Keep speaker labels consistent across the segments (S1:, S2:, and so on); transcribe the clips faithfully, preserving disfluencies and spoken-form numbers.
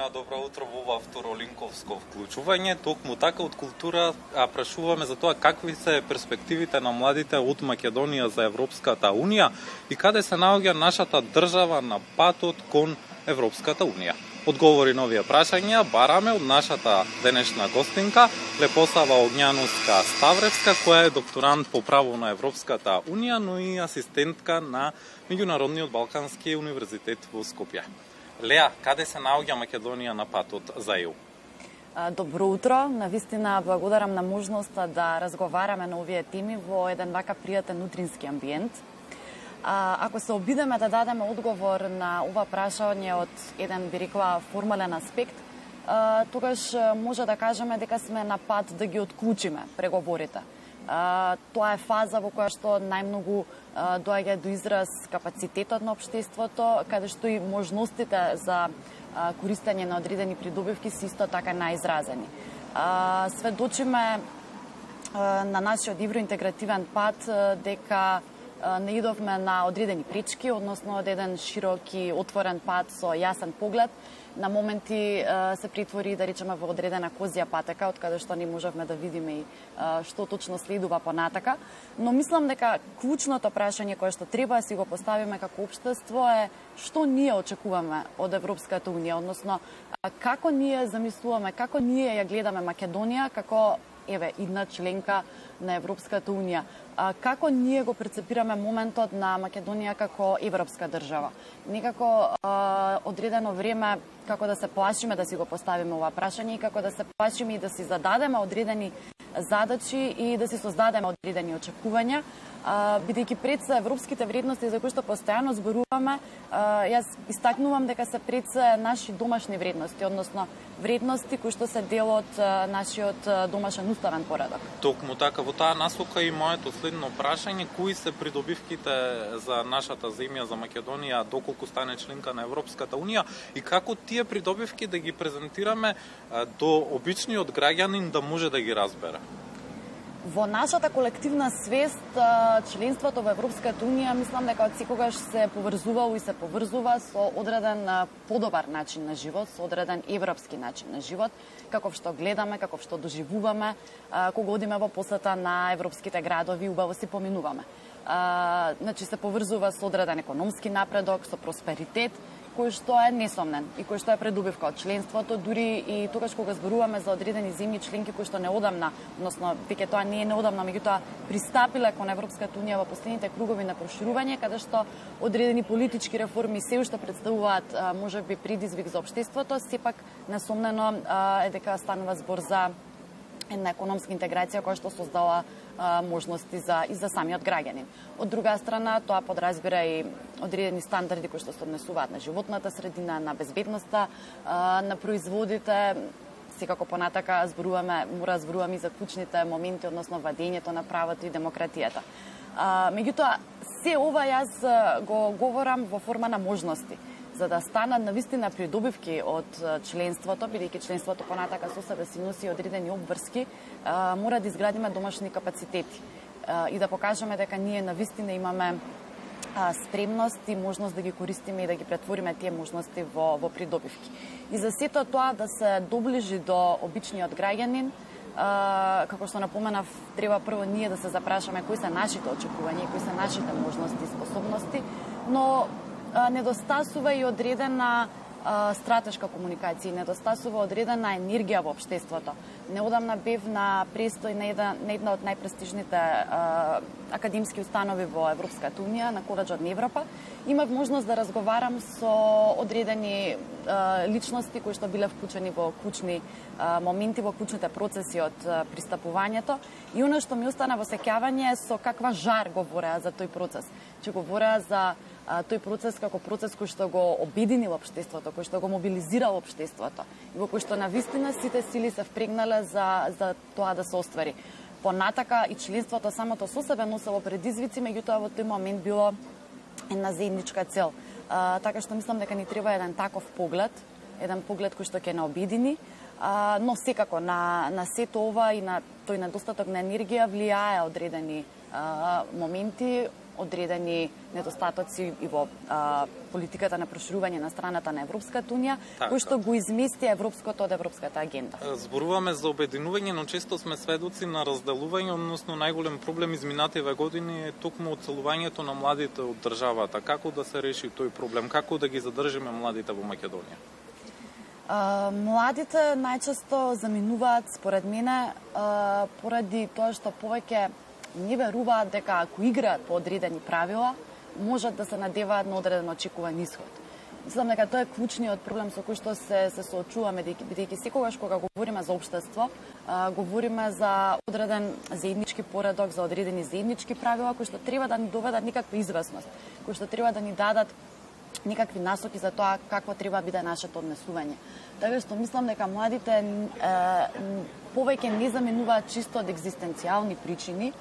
S1: Марина, добро утро во ова второлинковско вклучување. Токму така од култура а прашуваме за тоа какви се перспективите на младите од Македонија за Европската Унија и каде се наоѓа нашата држава на патот кон Европската Унија. Одговори на овие прашања бараме од нашата денешна гостинка, Лепосава Огњановска Ставревска, која е докторант по право на Европската Унија, но и асистентка на Меѓународниот Балкански универзитет во Скопје. Леа, каде се наоѓа Македонија на патот за ЕУ?
S2: Добро утро. Навистина благодарам на можноста да разговараме на овие теми во еден вака пријатен утрински амбиент. А, ако се обидеме да дадеме одговор на ова прашање од еден, би рекла, формален аспект, а, тогаш може да кажеме дека сме на пат да ги отклучиме преговорите. А, тоа е фаза во која што најмногу а, доаѓа до израз капацитетот на општеството, каде што и можностите за а, користење на одредени придобивки се исто така најизразени. А, сведочиме а, на нашиот евроинтегративен пат а, дека не идовме на одредени пречки, односно од еден широк и отворен пат со јасен поглед. На моменти се притвори, да речеме, во одредена козија патека, од каде што не можевме да видиме и што точно следува понатака. Но мислам дека клучното прашање кое што треба да си го поставиме како општество е што ние очекуваме од Европската Унија, односно како ние замислуваме, како ние ја гледаме Македонија како еве идна членка на Европската Унија. А, како ние го прецепираме моментот на Македонија како европска држава? Некако а, одредено време како да се плашиме да си го поставиме ова прашање и како да се плашиме и да си зададеме одредени задачи и да си создадеме одредени очекувања, бидејќи пред се европските вредности за кои што постојано зборуваме, а, јас истакнувам дека се пред се наши домашни вредности, односно вредности кои што се дел од а, нашиот домашен уставен поредок.
S1: Токму така, во таа насока и моето следно прашање, кои се придобивките за нашата земја, за Македонија, доколку стане членка на Европската Унија и како тие придобивки да ги презентираме а, до обичниот граѓанин да може да ги разбере?
S2: Во нашата колективна свест, членството во Европската Унија, мислам дека од секогаш се поврзувало и се поврзува со одреден подобар начин на живот, со одреден европски начин на живот, каков што гледаме, каков што доживуваме, кога одиме во посета на европските градови, убаво си поминуваме. Значи се поврзува со одреден економски напредок, со просперитет, кој што е несомнен и кој што е предубивка од членството, дури и тогаш кога зборуваме за одредени земји членки кои што неодамна, односно веќе тоа не е неодамна, меѓутоа пристапиле кон Европската Унија во последните кругови на проширување, каде што одредени политички реформи се уште представуваат можеби предизвик за општеството, сепак несомнено е дека станува збор за една економска интеграција која што создала а, можности за и за самиот граѓанин. Од друга страна, тоа подразбира и одредени стандарди кои што се однесуваат на животната средина, на безбедноста, а, на производите. Секако понатака зборуваме, мора зборуваме и за клучните моменти, односно владењето на правото и демократијата. А, меѓутоа, се ова јас го говорам во форма на можности, за да станат навистина придобивки од членството, бидејќи членството понатака со себе си носи одредени обврски, мора да изградиме домашни капацитети и да покажеме дека ние навистина имаме спремност и можност да ги користиме и да ги претвориме тие можности во, во придобивки. И за сето тоа да се доближи до обичниот граѓанин, како што напоменав, треба прво ние да се запрашаме кои се нашите очекувања и кои се нашите можности и способности, но недостасува и одредена а, стратешка комуникација, недостасува одредена енергија во општеството. Неодамна бев на престој на една, на една од најпрестижните а, академски установи во Европската Унија, на Колеџот на Европа. Имав можност да разговарам со одредени а, личности кои што биле вклучени во клучни а, моменти, во клучните процеси од а, пристапувањето. И оно што ми остана во сеќавање е со каква жар говореа за тој процес. Че говореа за а, тој процес како процес кој што го обединил општеството, кој што го мобилизирал општеството и во кој што навистина сите сили се впрегнале за, за тоа да се оствари. Понатака и членството самото со себе носело предизвици, меѓутоа во тој момент било една заедничка цел. А, така што мислам дека ни треба еден таков поглед, еден поглед кој што ќе не обедини, а, но секако на, на сето ова и на тој недостаток на енергија влијае одредени а, моменти, одредени недостатоци и во а, политиката на проширување на страната на Европската унија,
S1: така,
S2: кој што го измести европското од европската агенда.
S1: Зборуваме за обединување, но често сме сведоци на разделување, односно најголем проблем изминативе години е токму оцелувањето на младите од државата. Како да се реши тој проблем? Како да ги задржиме младите во Македонија?
S2: Uh, младите најчесто заминуваат, според мене, uh, поради тоа што повеќе не веруваат дека ако играат по одредени правила, можат да се надеваат на одреден очекуван исход. Мислам дека тоа е клучниот проблем со кој што се, се соочуваме, бидејќи секогаш кога говориме за општество, uh, говориме за одреден заеднички поредок, за одредени заеднички правила кои што треба да ни доведат некаква известност, кои што треба да ни дадат некакви насоки за тоа какво треба да биде нашето однесување. Така што мислам дека младите е, повеќе не заменуваат чисто од екзистенцијални причини,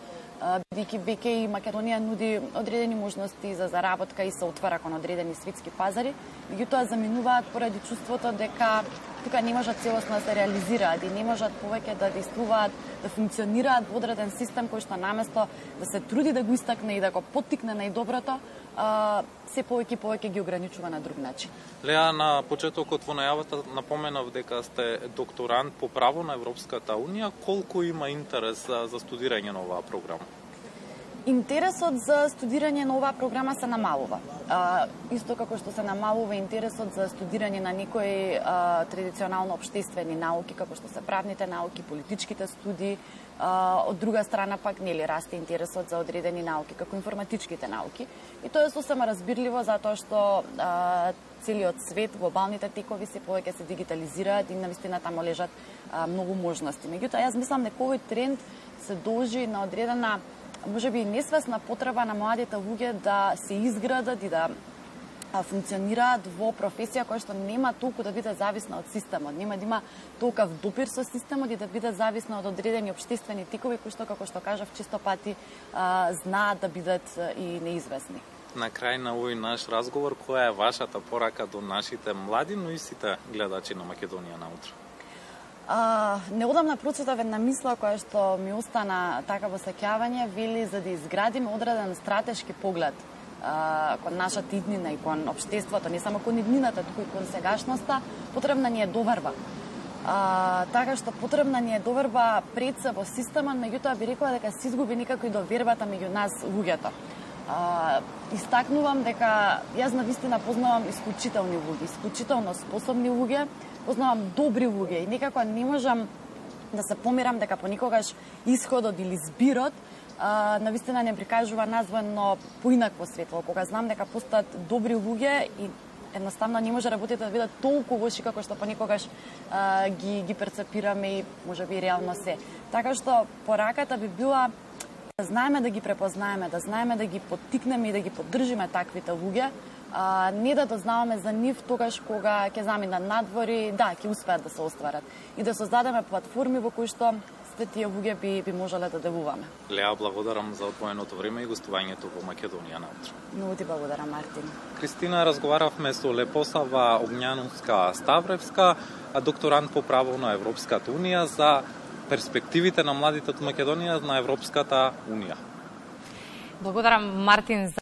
S2: бидејќи веќе и Македонија нуди одредени можности за заработка и се отвара кон одредени светски пазари, меѓутоа заменуваат поради чувството дека тука не можат целосно да се реализираат и не можат повеќе да действуваат, да функционираат во одреден систем кој што наместо да се труди да го истакне и да го поттикне најдоброто, а, се повеќе и повеќе ги ограничува на друг начин.
S1: Леа, на почетокот во најавата напоменав дека сте докторант по право на Европската унија. Колку има интерес за, за студирање на оваа програма?
S2: Интересот за студирање на оваа програма се намалува. А, исто како што се намалува интересот за студирање на некои а, традиционално општествени науки, како што се правните науки, политичките студии. А, од друга страна пак нели расте интересот за одредени науки, како информатичките науки. И тоа е сосема разбирливо затоа што а, целиот свет, глобалните текови се повеќе се дигитализираат и навистина таму лежат а, многу можности. Меѓутоа, јас мислам дека овој тренд се должи на одредена може би несвесна потреба на младите луѓе да се изградат и да функционираат во професија која што нема толку да биде зависна од системот, нема да има толков допир со системот и да биде зависна од одредени општествени тикови кои што, како што кажав, чисто пати а, знаат да бидат и неизвестни.
S1: На крај на овој наш разговор, која е вашата порака до нашите млади, но и сите гледачи на Македонија наутро?
S2: Uh, неодамна прочитав една мисла која што ми остана така во сеќавање, вели за да изградиме одреден стратешки поглед uh, кон нашата иднина и кон општеството, не само кон иднината, туку и кон сегашноста, потребна ни е доверба. Uh, така што потребна ни е доверба пред се во системот, меѓутоа би рекла дека се изгуби некако и довербата меѓу нас луѓето. Uh, истакнувам дека јас навистина познавам исклучителни луѓе, исклучително способни луѓе, познавам добри луѓе и некако не можам да се помирам дека понекогаш исходот или збирот а, навистина не прикажува нас во едно поинакво светло, кога знам дека постојат добри луѓе и едноставно не може работите да бидат толку лоши како што понекогаш а, ги, ги перцепираме и можеби реално се. Така што пораката би била да знаеме да ги препознаеме, да знаеме да ги поттикнеме и да ги поддржиме таквите луѓе, а, не да дознаваме за нив тогаш кога ќе заминат надвори, да, ќе успеат да се остварат. И да создадеме платформи во кои што сите тие луѓе би, би можеле да делуваме.
S1: Леа, благодарам за одвоеното време и гостувањето во Македонија наутро.
S2: Многу ти благодарам, Мартин.
S1: Кристина, разговаравме со Лепосава Огњановска-Ставревска, докторант по право на Европската унија, за перспективите на младите од Македонија на Европската унија.
S3: Благодарам, Мартин, за